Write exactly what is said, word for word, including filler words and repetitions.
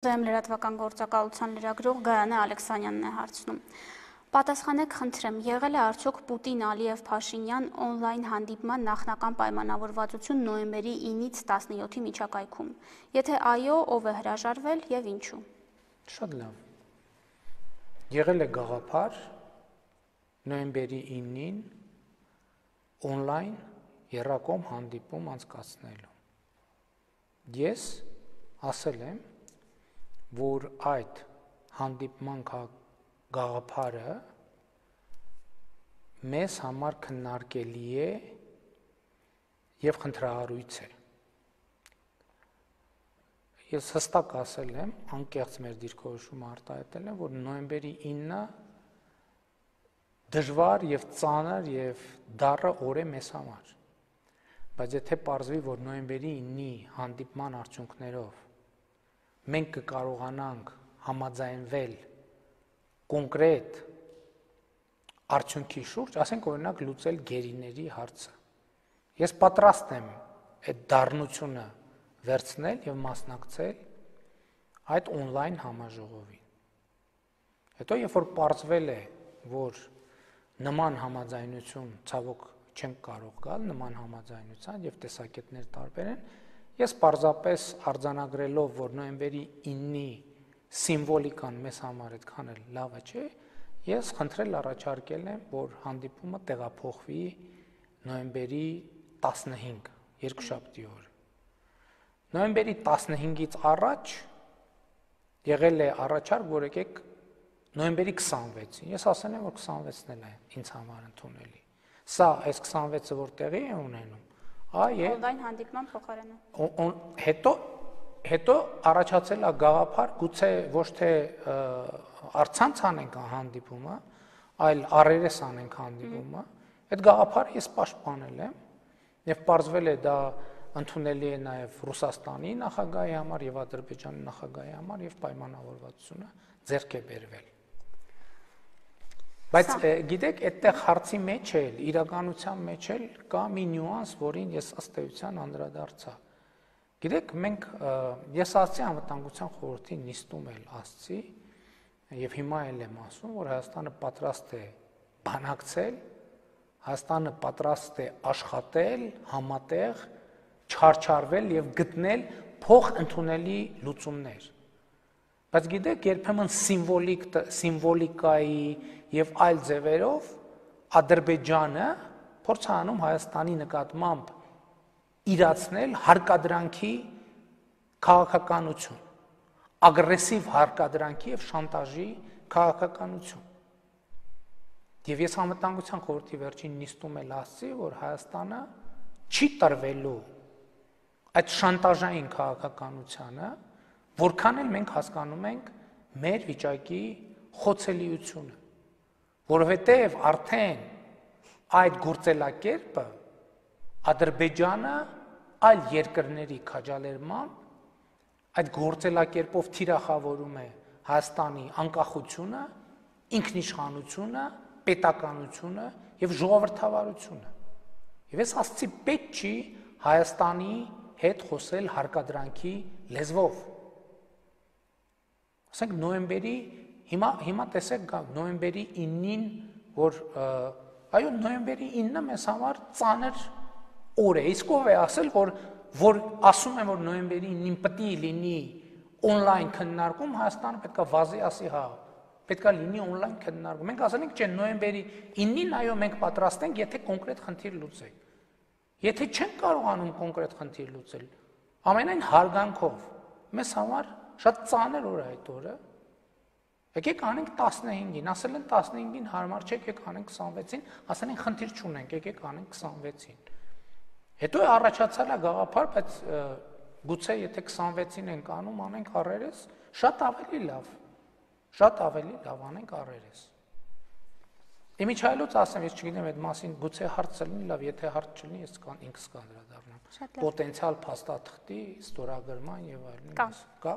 Զայմ լրատվական գործակալության լրագրող Գայանե Ալեքսանյանն է հարցնում։ Պատասխանեք խնդրեմ, եղել է արդյոք Պուտին-Ալիև-Փաշինյան օնլայն հանդիպման նախնական պայմանավորվածություն նոյեմբերի ինից տասնյոթի միջակայքում։ Եթե այո, ով է հրաժարվել եւ ինչու։ Շատ լավ։ Եղել է գաղափար նոյեմբերի ինին օնլայն եռակողմ հանդիպում անցկացնելու։ Ես ասել եմ, որ այդ հանդիպման գաղափարը մեզ համար քննարկելի է եւ խնդրահարույց է։ Ես հստակ ասել եմ, անկեղծ մեր դիրքորոշումը արտահայտել եմ, որ նոյեմբերի ինը դժվար եւ ծանր եւ դառը օր է մեզ համար։ Բայց եթե պարզվի, որ նոյեմբերի ինի հանդիպման արդյունքներով մենք կկարողանանք համաձայնվել կոնկրետ արդյունքի շուրջ, ասենք օրինակ լուծել գերիների հարցը։ Ես պատրաստ եմ այդ դառնությունը վերցնել եւ մասնակցել այդ օնլայն համաժողովին։ Հետո երբ որ պարզվել է, որ նման համաձայնություն ցավոք չենք կարող գալ, նման համաձայնության եւ տեսակետներ տարբեր են, ես պարզապես արձանագրելով, որ նոյեմբերի ինի սիմվոլիկան մեզ համար այդքան էլ լավը չէ, ես խնդրել առաջարկել եմ, որ հանդիպումը տեղափոխվի նոյեմբերի տասնհինգ, երկուշաբթի օր։ Նոյեմբերի տասնհինգից առաջ եղել է առաջարկ, որ եկեք նոյեմբերի քսանվեցին։ Ես ասել եմ, որ քսանվեցն էլ է ինձ համար ընդունելի։ Սա այս քսանվեցը որ տեղի է ունենում, այ օնլայն հանդիպման փոխարենը։ Հետո հետո առաջացել է գաղափար, գուցե ոչ թե առցանց անենք հանդիպումը, այլ առերես անենք հանդիպումը։ Այդ գաղափարը ես պաշտպանել եմ եւ պարզվել է դա ընդունելի է նաեւ Ռուսաստանի նախագահի համար եւ Ադրբեջանի նախագահի համար եւ պայմանավորվածությունը ձեռք է բերվել։ Բայց գիտեք, այդտեղ հարցի մեջ էլ, իրականության մեջ էլ կա մի նյուանս, որին ես ըստ էության անդրադարձա։ Գիտեք, մենք ես ասացի անվտանգության խորհրդի նիստում էլ ասացի եւ հիմա էլ եմ ասում, որ Հայաստանը պատրաստ է բանակցել, Հայաստանը պատրաստ է աշխատել, համատեղ, չարչարվել եւ գտնել փոխընդունելի լուծումներ։ Բայց գիտեք, երբեմն սիմվոլիկ սիմվոլիկայի եւ այլ ձևերով Ադրբեջանը փորձ է անում Հայաստանի նկատմամբ իրացնել հարկադրանքի քաղաքականություն, ագրեսիվ հարկադրանքի եւ շանտաժի քաղաքականություն։ Եվ ես անվտանգության խորհրդի վերջին նիստում էլ ասացի, որ Հայաստանը չի տրվելու այդ շանտաժային քաղաքականությանը, որքան էլ մենք հասկանում ենք մեր վիճակի խոցելիությունը, որովհետև արդեն այդ գործելակերպը Ադրբեջանը այլ երկրների քաջալերմամբ այդ գործելակերպով թիրախավորում է Հայաստանի անկախությունը, ինքնիշխանությունը, պետականությունը եւ ժողովրդավարությունը։ Եվ ես ասացի, պետք չի Հայաստանի հետ խոսել հարկադրանքի լեզվով։ Ասենք նոյեմբերի հիմա հիմա տեսեք նոյեմբերի ինին, որ այո նոյեմբերի ինը մեզ համար ծանր օր է, իսկ ով է ասել, որ որ ասում են, որ նոյեմբերի ինին պետք է լինի օնլայն քննարկում, Հայաստանը պետք է վազի ասի հա, պետք է լինի օնլայն քննարկում։ Մենք ասել ենք, չէ, նոյեմբերի ինին այո մենք պատրաստ ենք, եթե կոնկրետ խնդիր լուծենք։ Եթե չենք կարողանում կոնկրետ խնդիր լուծել, ամենայն հարգանքով մեզ համար շատ ծանր օր է այդ օրը։ Եկեք անենք տասնհինգին, ասել են տասնհինգին հարմար չէ, եկեք անենք քսանվեցին, ասել են խնդիր չունենք, եկեք անենք քսանվեցին։ Հետո է առաջացել է գաղափար, բայց գուցե եթե քսանվեցին ենք անում, անենք առերես, շատ ավելի լավ, շատ ավելի լավ անենք առերես։ Իմիջայլոց ասեմ, ես չգիտեմ այդ մասին, գուցե հարց լինի, լավ, եթե հարց չլինի, ես ինքս կանդրադառնամ։ Պոտենցիալ փաստաթղթի ստորագրման եւ այլն։ Կա։ Կա։